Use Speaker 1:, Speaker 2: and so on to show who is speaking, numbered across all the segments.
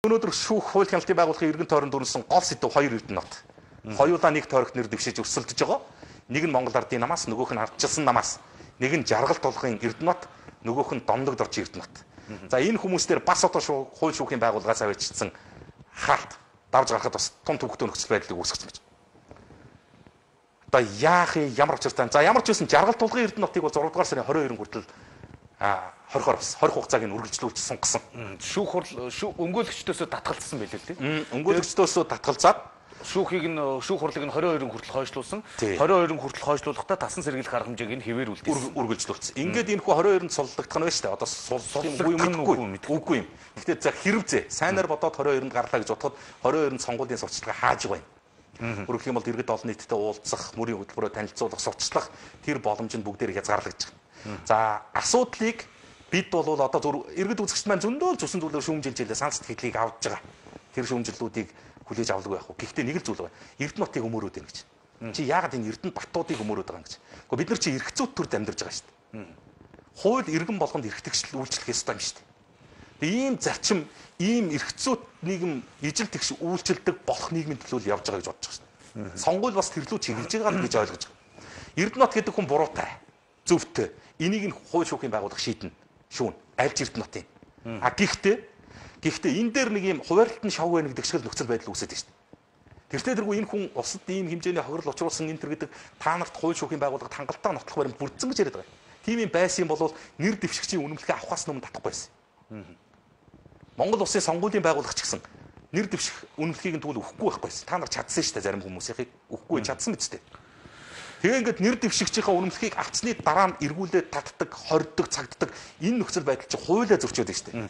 Speaker 1: Өнөөдөр шүүх хууль хяналтын байгууллагын иргэн тойронд дүрсэн гол сэдв хоёр эрдэнэт. Хоёулаа нэг тойрогт нэр дэвшиж өрсөлдөж байгаа. Нэг нь Монгол Ардын намаас, нөгөөх нь ардчилсан намаас. Нэг нь жаргал тулгын эрдэнэт, нөгөөх нь Домдог доржийн эрдэнэт. За энэ хүмүүстээр бас одоо хууль шүүхийн байгууллагаас авчирсан хаалт давж гарахад бас тун төвхтөө нөхцөл байдлыг үүсгэж байна. Одоо яах юм, ямар учиртай. За ямар ч байсан жаргал тулгын эрдэнэтийг бол 6 дугаар сарын 22-нд хүртэл 20 хугацааг нь үргэлжлүүлж сунгасан.
Speaker 2: Шүүх өмгөөлөгчдөөсөө татгалзсан байлээ л дээ.
Speaker 1: Өмгөөлөгчдөөсөө татгалзаад
Speaker 2: шүүх хурлыг нь 22-нд хүртэл хойшлуулсан. 22-нд хүртэл хойшлуулахдаа тасан сэргийлэх арга хэмжээг нь хэвээр
Speaker 1: үргэлжлүүлсэн. Ингээд энэ хүү 22-нд суллагдах нь байна шүү дээ. Одоо суллах юм үгүй юм. Гэхдээ за хэрвээ сайнаар бодоод 22-нд гарлаа гэж бодоход 22-нд сонгуулийн сурчлагаа хааж байна. Өөрөөр хэлбэл иргэд олон нийтэд уулзах, мөрийн хөтөлбөрөөр танилцуулах, сурчлах тэр боломж нь бүгдээр хязгаарлагдаж байна. За асуудлыг бид бол одоо зөв иргэд үзэгчд маань зөндөө зүсэн зүйлээр шүүмжилжээ санс сэтгэлийг авч байгаа. Тэр шүүмжлэлүүдийг хүлээж авалгүй байх уу. Гэхдээ нэг л зүйл байна. Эрдэнэтийг өмөрөөд байна гэж. Чи яагаад энэ Эрдэнэт Баттуудыг өмөрөөд байгаа юм гэж. Гэхдээ бид нар чи эрхцүүд төрд амьдарч байгаа шүү дээ. Хууль иргэн болгонд эрхтгчл үйлчлэх ёстой юм шүү дээ. Тэгээ ийм зарчим, ийм эрхцүүд нийгэм ижил тэгш үйлчлдэг болох нийгмийн төлөө явж байгаа гэж бодож байгаа шүү дээ. Сонгуул бас тэрлүү чиглэж байгаа гэж ойлгож байгаа. Эрдэнэт гэдэг хүн буруутай, зөвхтэй. Энийг нь хууль шүүхийн байгууллага шийднэ. Шүүн альж эрдэнэтийн. Гэхдээ энэ дээр нэг юм хуваарлтын шав байна гэдэг шиг л нөхцөл байдал үүсэж байна шүү дээ. Тэртээ тэргүй энэ хүн усад ийм хэмжээний хохирол учруулсан энэ төр гэдэг та нарт хууль шүүхийн байгууллага хангалттай нотлох баримт бүрдсэн гэж яриад байгаа. Тийм юм байсан бол нэр дэвшигчийн үнэмлэхээ авахаас өмнө татахгүй байсан. Монгол улсын сонгуулийн байгууллага ч гэсэн нэр дэвших үнэмлэхийг нь тэгвэл өгөхгүй байхгүй байсан. Та нар чадсан шүү дээ зарим хүмүүсийнхийг өгөхгүй чадсан биз дээ. Тэгээ ингээд нэр дэвшигчийнхаа үнэмлэхийг авцсны дараа нь эргүүлээд татдаг, хорддог, цагддаг энэ нөхцөл байдал чинь хуулиа зөрчөөд байна шүү дээ.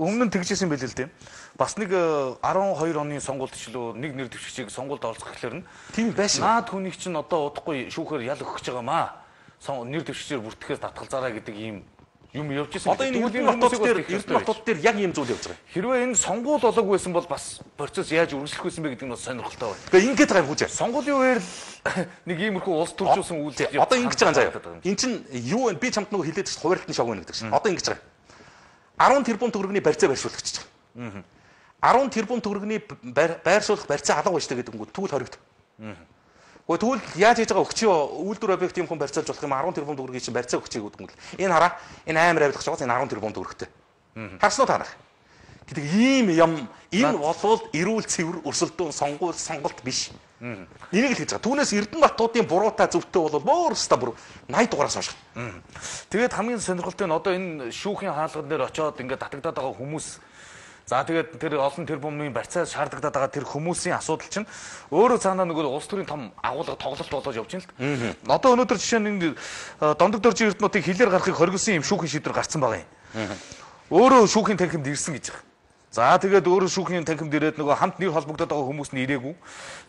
Speaker 2: Өмнө нь тэгжсэн байл л дээ. Бас нэг 12 оны сонгуульд ч лөө нэг нэр дэвшигчийг сонгуульд оролцох гэхлээр нь
Speaker 1: тийм байшин.
Speaker 2: Наад хүнийг чинь одоо удахгүй шүүхээр ял өгөх гэж байгаамаа. Нэр дэвшигчээр бүртгэхээс татгалзаараа гэдэг ийм юм явж ирсэн.
Speaker 1: Одоо энэ Эрдэнэт дээр яг ийм зүйл явж байгаа.
Speaker 2: Хэрвээ энэ сонгуул болоогүй байсан бол бас процесс яаж үргэлжлэх байсан бэ гэдэг нь бас сонирхолтой байна.
Speaker 1: Тэгээ ингээд байгаа юм хүчээ.
Speaker 2: Сонгуулийн үеэр нэг иймэрхүү улс төржүүлсэн үйлдэл.
Speaker 1: Одоо ингэж байгаа юм заяа. Энд чинь юу вэ? Би чамд нөгөө хэлээд чинь хуваарлтын шог байна гэдэг чинь. Одоо ингэж байгаа. 10 тэрбум төгрөгийн барьцаа байршуулчихж байгаа. 10 тэрбум төгрөгийн байршуулах барьцаа алга байж гэдэг нь тэгвэл хоригд. Тэгвэл яаж хийж байгаа өгчөө үйлдвэр объект юм хүн барьцаалж болох юм 10 тэрбум төгрөгийн чинь барьцаа өгчээ гэдэг юм бол энэ хараа энэ амар авилгах жоо энэ 10 тэрбум төгрөгтэй. Харснуу та нар. Гэдэг ийм юм энэ болвол эрүүл цэвэр өрсөлдөөн сонголт биш. Энийг л хийж байгаа. Түүнээс Эрдэнэтуудын буруутай зөвхтэй бол өөрөөсөө бүр 80 дугаараас хойш.
Speaker 2: Тэгээд хамгийн сонирхолтой нь одоо энэ шүүхийн хаалган дээр очиод ингээд татагдаад байгаа хүмүүс. За тэгээд тэр олон тэрбумын барьцаа шаардлагатай байгаа тэр хүмүүсийн асуудал чинь өөрөө цаанаа нөгөө улс төрийн том агуулга тоглолт болоод явж байна л. Одоо өнөөдөр жишээ нь Домдог доржийн эрдэнэтийг хилээр гарахыг хоригдсан юм шүүхийн шийдвэр гарсан байгаа юм. Өөрөө шүүхийн танхимд ирсэн гэж байна. За тэгээд өөрөө шүүхийн танхимд ирээд нөгөө хамт нэр холбогдоод байгаа хүмүүс нь ирээгүй.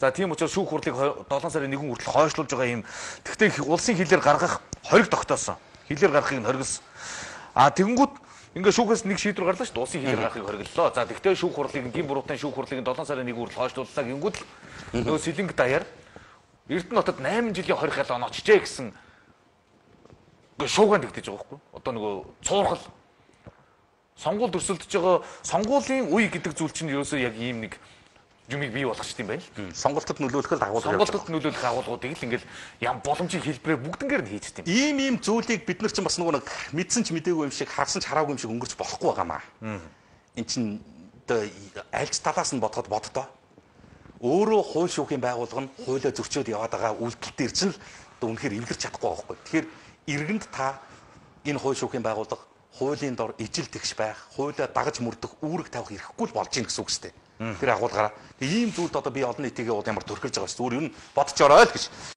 Speaker 2: За тийм учраас шүүх хурлыг 7 сарын 1 хүртэл хойшлуулж байгаа юм. Тэгвэл улсын хилээр гаргах хориг тогтоосон. Хилээр гарахыг нь хоригсон. Тэгэнгүүт ингээ шүүхээс нэг шийдвэр гарлаа шүү дээ. Улсын хилээр гарахыг хориглолоо. За тэгтээ шүүх хурлыг гин буруутан шүүх хурлыг 7 сарын 1 хүртэл хойшлууллаа гингүүд л нөгөө сэлэнг даяар Эрдэнэтод 8 жилийн хорих ялаа очжээ гэсэн шуугаан тэгтэж байгаа байхгүй. Одоо нөгөө цуурхал сонгуульд өрсөлдөж байгаа сонгуулийн үе гэдэг зүйл чинь ерөөсөө яг ийм нэг юмыг бий болгочих юм байна л.
Speaker 1: Сонголтод нөлөөлөх
Speaker 2: агуулгуудыг л ингээл ям боломжийн хэлбэрээр бүгднгээр нь хийж тийм.
Speaker 1: Ийм зүйлийг бид нар чинь бас нөгөө мэдсэн ч мдээгүй юм шиг харсан ч хараагүй юм шиг өнгөрч болохгүй байгаамаа. Энд чинь альж талаас нь бодоход боддоо. Өөрөө хууль шүүхийн байгууллага нь хуулиа зөрчөөд яваад байгаа үйлдэл дээр чинь л үнэхээр эвлэрч чадахгүй байхгүй. Тэгэхээр иргэнд та энэ хууль шүүхийн байгууллага хуулийн дор ижил тэгш байх, хуулиа дагаж мөрдөх үүрэг тавих эрхгүй л болж ийн гэсэн үг шүү дээ. Тэр агуулгаараа ийм зүйлд одоо би олон нийтийн ямар төрхөж байгаа шүү. Зүгээр юу бодож орой л гэж.